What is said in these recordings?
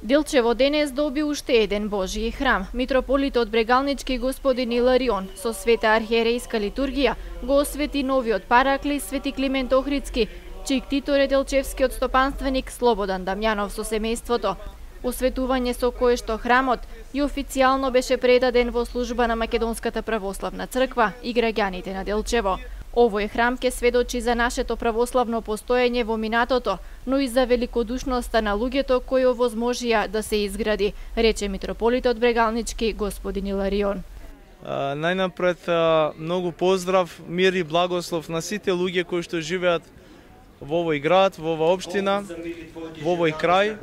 Делчево денес доби уште еден Божји храм. Митрополитот Брегалнички господин Иларион со света архиерейска литургија го освети новиот параклис Свети Климент Охридски, чиј ктитор е делчевскиот стопанственик Слободан Дамјанов со семејството. Осветување со кое што храмот и официјално беше предаден во служба на Македонската православна црква и граѓаните на Делчево. Овој храм ќе сведочи за нашето православно постоење во минатото, но и за великодушноста на луѓето кои овозможија да се изгради, рече митрополитот Брегалнички господин Иларион. Најнапред многу поздрав, мир и благослов на сите луѓе кои што живеат во овој град, во оваа општина, во овој крај.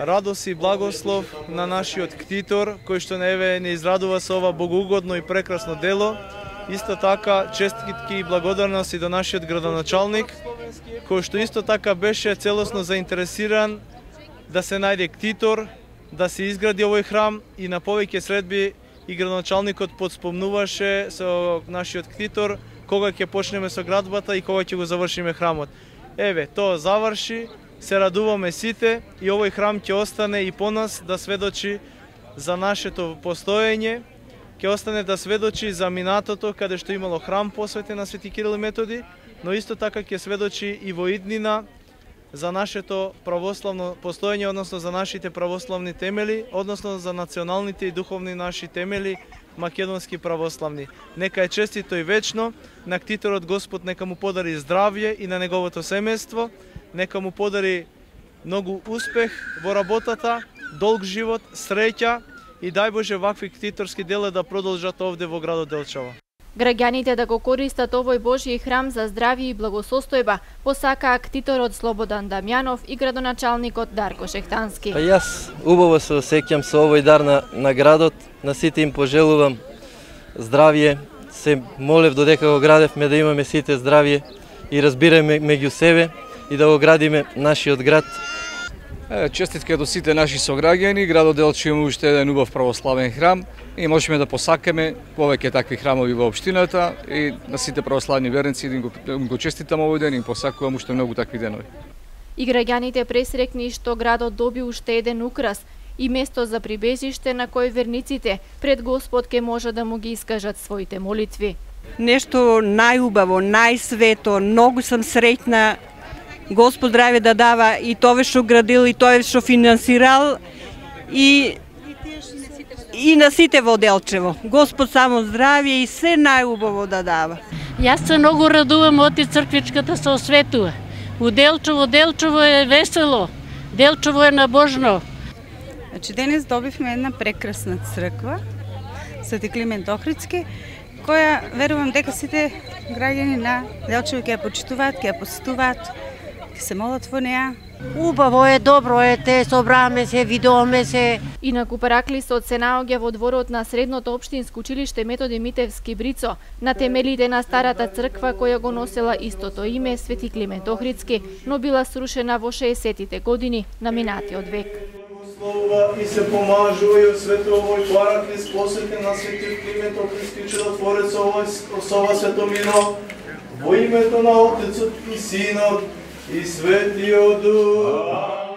Радост и благослов на нашиот ктитор кој што не израдува со ова богоугодно и прекрасно дело. Исто така честитки и благодарности до нашиот градоначалник, кој што исто така беше целосно заинтересиран да се најде ктитор, да се изгради овој храм, и на повеќе средби и градоначалникот подспомнуваше со нашиот ктитор кога ќе почнеме со градбата и кога ќе го завршиме храмот. Еве, тоа заврши, се радуваме сите и овој храм ќе остане и по нас да сведочи за нашето постоење, ќе остане да сведочи за минатото каде што имало храм посветен на Свети Кирил и Методи, но исто така ќе сведочи и во иднина за нашето православно постоење, односно за нашите православни темели, односно за националните и духовни наши темели македонски православни. Нека е честито и вечно, на ктиторот Господ нека му подари здравје и на неговото семејство, нека му подари многу успех во работата, долг живот, среќа и дај Боже вакви ктиторски дела да продолжат овде во градот Делчево. Граѓаните да го користат овој Божји храм за здравје и благосостојба, посакаа ктиторот Слободан Дамјанов и градоначалникот Дарко Шехтански. Јас убаво се осеќам со овој дар на градот, на сите им пожелувам здравје. Се молев додека го градевме да имаме сите здравје и разбираме меѓу себе и да го градиме нашиот град. Честитка до сите наши сограѓани, градот Делчево има уште еден убав православен храм и можеме да посакаме повеќе такви храмови во општината и на сите православни верници да им го честитам овој ден и им посакувам уште многу такви денови. И граѓаните пресрекни што градот доби уште еден украс и место за прибежиште на кој верниците пред Господ ке може да му ги искажат своите молитви. Нешто најубаво, најсвето, многу сум среќна. Господ здравје да дава и тоа што градил и тоа што финансирал и на сите во Делчево. Господ само здравје и се најубаво да дава. Јас се многу радувам од црквичката се осветува. У Делчево е весело, Делчево е набожно. Значи денес добивме една прекрасна црква, Свети Климент Охридски, која верувам дека сите граѓани на Делчево ќе ја почитуваат, ќе ја посетуваат, се молат во неа. Убаво е, добро е, те собраме се, видоме се. Инаку параклисот се наоѓа во дворот на средното општинско училиште Методи Митевски Брицо, на темелите на старата црква која го носела истото име Свети Климент Охридски, но била срушена во 60-тите години на минатиот век. И се помажува и освети овој параклис посветен на Свети Климент Охридски чудотворец со ова светомино, во името на Отецот и Синот и Светиот Дух.